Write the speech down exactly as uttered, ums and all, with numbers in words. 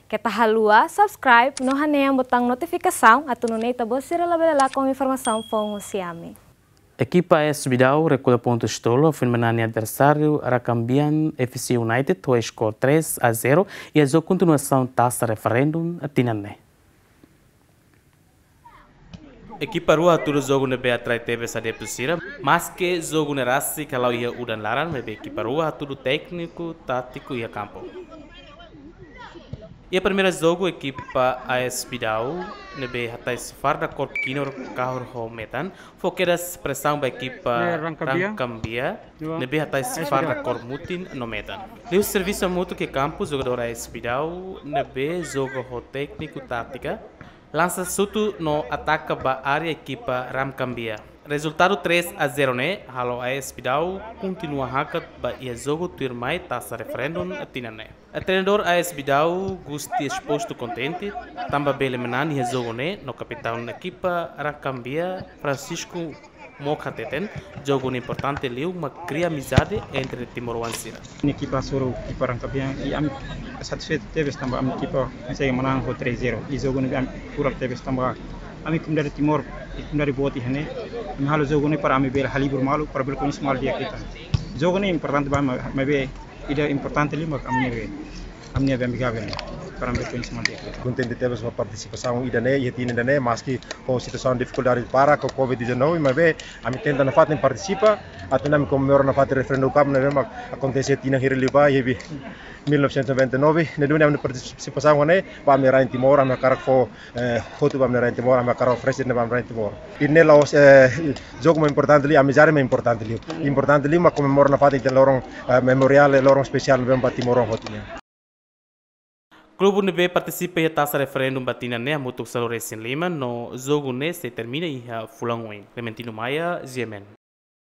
Keta haluha subscribe no hanehan botaun notifikasaun atu nune'e ita-boot sira labele lakon informasaun foun husi ami. Ekipa AS Bidau rekolla pontus tolu, foin manán nia adversáriu Rakambian FC United ho skor três a zero iha jogu kontinuasaun Taça Referendum tinan ne'e. Ekipa rua hatudu jogu ne'ebé atrai tebes adeptu sira, maske jogu ne'e rasik hala'o iha udan laran, maibé ekipa rua hatudu tékniku, tátiku iha kampu. Iha primeira jogu ekipa AS Bidau ne'ebé hatais farda kór kinur kahur ho metan, fó kedas presaun ba ekipa Rakambian ne'ebé hatais farda kór mutin no metan. Liuhusi servisu hamutuk iha kampu, jogadór AS Bidau ne'ebé joga ho tékniku, tátika, lansa xutu no ataka ba área ekipa Rakambian. Rezultadu três a zero ne'e halo AS Bidau kontinua hakat ba iha jogu tuirmai Taça Referendum tinan ne'e. Treinadór AS Bidau, Gusti Exposto, kontente tanba bele manán iha jogu ne'e no kapitaun ekipa Rakambian, Francisco Moca, hateten jogu ne'e importante liu mak kria amizade entre timoroan sira. Ne'e ekipa suru ekipa Rakambian i ami satisfeitu tebes tanba ami ekipa konsege manán ho três zero. I jogu ne'e ami furak tebes tanba ami komunidade Timor, i komunidade boot iha ne'e, ami halo jogu ne'e para ami bele halibur malu, para bele koñese malu di'ak ita. Jogu ne'e importante ba ami, maibé ida importante liu mak ami-nia be, ami-nia be amigável ne'e, para ami bele koñese malu di'ak ita. Kontente tebes ho partisipasaun ida-ne'e, iha tinan ida-ne'e, maske ho situasaun difikuldade para ho covid dezanove, maibé ami tenta nafatin partisipa, atu nune'e ami komemora nafatin Referendum Cup ne'ebé mak akontese tinan hirak liubá, iha bi-, mil novecentos e noventa e nove, ne'e duni ami partisipasaun ne'e ba ami-nia rain Timor, ami hakarak fó, eh, hotu ba ami-nia rain Timor, ami hakarak oferese ne'e ba ami-nia rain Timor. I ne'e la'ós, eh, jogu mak importante liu, amizade mak importante liu. Importante liu mak komemora nafatin ita-nia loron, eh, memoriál, loron espesiál ne'ebé ba timoroan hotu nian. Klube ne'ebé partisipa iha Taça Referendum ba tinan ne'e hamutuk sanulu-resin-lima no jogu ne'e sei termina iha fulan oin. Clementino Maia, G M N.